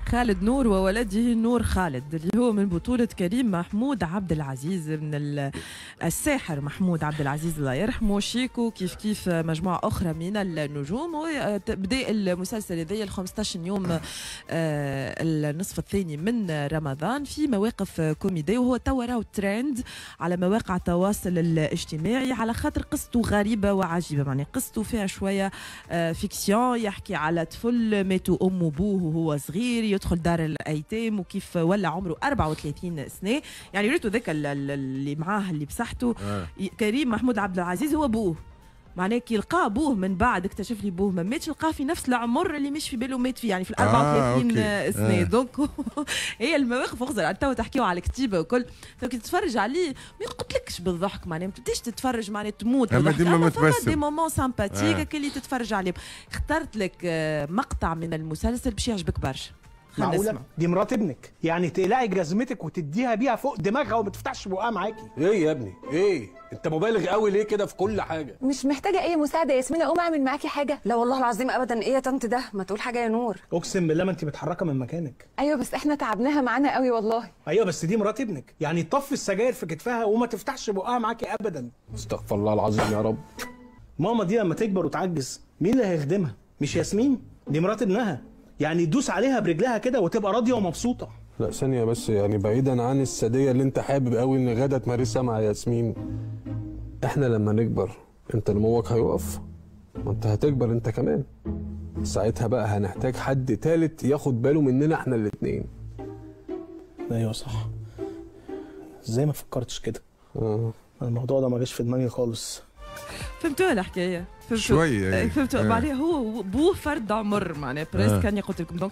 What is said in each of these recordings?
خالد نور وولده نور خالد، اللي هو من بطولة كريم محمود عبد العزيز، من الساحر محمود عبد العزيز الله يرحمه، شيكو كيف كيف مجموعة أخرى من النجوم. وبدأ المسلسل هذايا 15 يوم النصف الثاني من رمضان في مواقف كوميدية، وهو توا راهو ترند على مواقع التواصل الاجتماعي على خاطر قصته غريبة وعجيبة. معناها قصته فيها شوية fiction، يحكي على طفل ماتوا أمه وبوه وهو صغير، يدخل دار الايتام، وكيف ولا عمره 34 سنة. يعني ريتو ذاك اللي معاه اللي بصحته كريم محمود عبد العزيز هو بوه، معناه كي لقى بوه من بعد اكتشف لي بوه ما ماتش، لقاه في نفس العمر اللي مش في باله مات فيه، يعني في ال 34 سنة. donc هي المواقف اخزر تو تحكيو على الكتيبة وكل، تو كي تتفرج عليه ما يقتلكش بالضحك، معناها ما تبداش تتفرج معناها تموت بالضحك، اما فما des moments sympathiques اللي تتفرج عليه. اخترت لك مقطع من المسلسل باش يعجبك برشا. معقولة؟ دي مرات ابنك، يعني تقلعي جزمتك وتديها بيها فوق دماغها وما تفتحش بقها معاكي. ايه يا ابني؟ ايه؟ انت مبالغ قوي ليه كده في كل حاجة؟ مش محتاجة أي مساعدة يا ياسمين، أقوم أعمل معاكي حاجة؟ لا والله العظيم أبدا. ايه يا طنط ده؟ ما تقول حاجة يا نور. أقسم بالله ما أنت متحركة من مكانك. أيوه بس احنا تعبناها معانا قوي والله. أيوه بس دي مرات ابنك، يعني تطفي السجاير في كتفها وما تفتحش بقها معاكي أبدا. استغفر الله العظيم يا رب. ماما دي لما تكبر وتعجز مين اللي هيخدمها؟ مش ياسمين؟ دي مرات ابنها، يعني تدوس عليها برجلها كده وتبقى راضية ومبسوطة. لا ثانية بس، يعني بعيدا عن الساديه اللي انت حابب قوي ان غدا تمارسها مع ياسمين، احنا لما نكبر انت نموك هيقف، ما انت هتكبر انت كمان، ساعتها بقى هنحتاج حد تالت ياخد باله مننا احنا الاثنين. ايوه صح، ازاي ما فكرتش كده؟ الموضوع ده ما جاش في دماغي خالص. فهمتوها الحكاية؟ شوية يعني. فهمتوا؟ معناها هو بوه فرد عمر، معناها presque كان قلت لكم. donc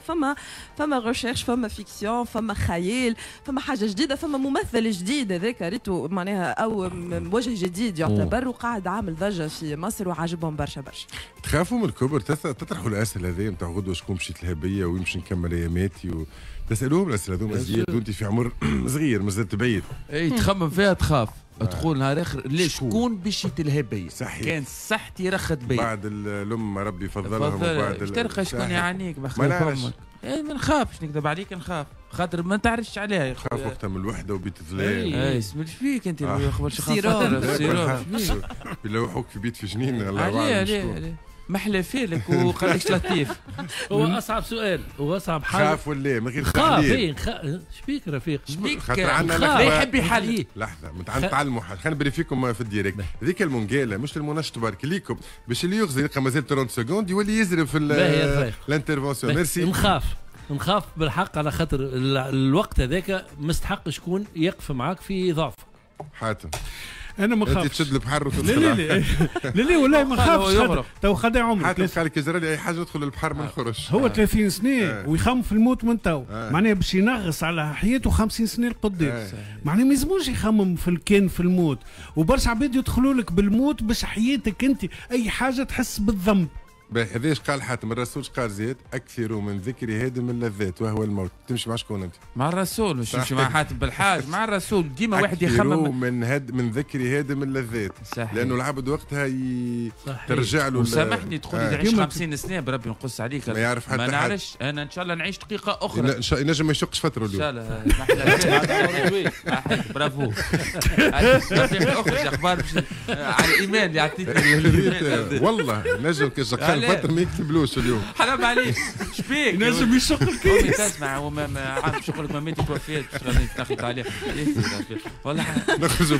فما recherche، فما fiction، فما خيال، فما حاجة جديدة، فما ممثل جديد هذاك ريتو معناها او وجه جديد يعتبر، وقاعد عامل ضجه في مصر وعاجبهم برشا برشا. تخافوا من الكبر؟ تطرحوا الاسئلة هذه نتاع غدوه شكون مشيت لها وين باش نكمل اياماتي تسالوهم الاسئلة هذوما زياد وانت في عمر صغير مازلت بعيد. اي تخمم فيها تخاف، تقول نهار اخر ليش شكون باش يتلهى بيا؟ صحيح. كان صحتي رخت بيا بعد الام ربي فضلهم وبعد تلقى شكون يعانيك بخلاف امك. اي ما نخافش نكذب عليك، نخاف خاطر ما تعرفش عليها يا خويا. خاف وقتها من الوحدة وبيت الظلام. اي اسمع فيك انت خبر سيروم يلوحوك في بيت في جنين. الله اعلم. عليه محلى فيلك وقال لك لطيف. هو اصعب سؤال واصعب حاجة. خاف ولا من غير تحليل؟ خاف. شبيك رفيق؟ شبيك؟ خاطر يحب يحلي. لحظة نتعلموا حاجة، خلينا نبريفيكم في ال direct. هذيك المونجاله مش المنشط برك ليكم باش اللي يغزي يلقى مازال 30 secondes يولي يزرب في ال intervention. merci. نخاف بالحق على خاطر الوقت هذاك مستحق شكون يقف معاك في ضعفك. حاتم انا ما نخافش. انت تشد البحر وتدخل. لا لا لا لا والله ما نخافش. تو خدع عمرك. حاتم قال لك يجرى لي اي حاجة ندخل البحر ما نخرجش. هو 30 سنة ويخمم في الموت من تو، معناها باش ينغص على حياته 50 سنة لقدام. معناها ما يلزموش يخمم في كان في الموت، وبرشا عباد يدخلوا لك بالموت باش حياتك انت اي حاجة تحس بالذنب. باهي هذا ايش قال حاتم؟ الرسول قال زياد اكثروا من ذكر هادم اللذات وهو الموت. تمشي مع شكون انت؟ مع الرسول، مش تمشي مع حاتم بالحاج، مع الرسول. ديما واحد يخمم من ذكر هادم اللذات. صحيح. لانه العبد وقتها ترجع له. وسامحني تقول لي تعيش 50 سنة بربي نقص عليك. ما يعرف حتى ما نعرفش انا، ان شاء الله نعيش دقيقة اخرى. ان شاء الله ينجم ما يشقش فترة اليوم. ان شاء الله. برافو. اخرج اخبار على الايمان اللي عطيتني. والله نجم كي الفتر ما يكتبلوش اليوم. حرام عليك. شبيك؟ نجم يشق الكيس. تسمع وما عام شغلك ما ماتت توفيت تاخذ عليه. والله نخرجوا.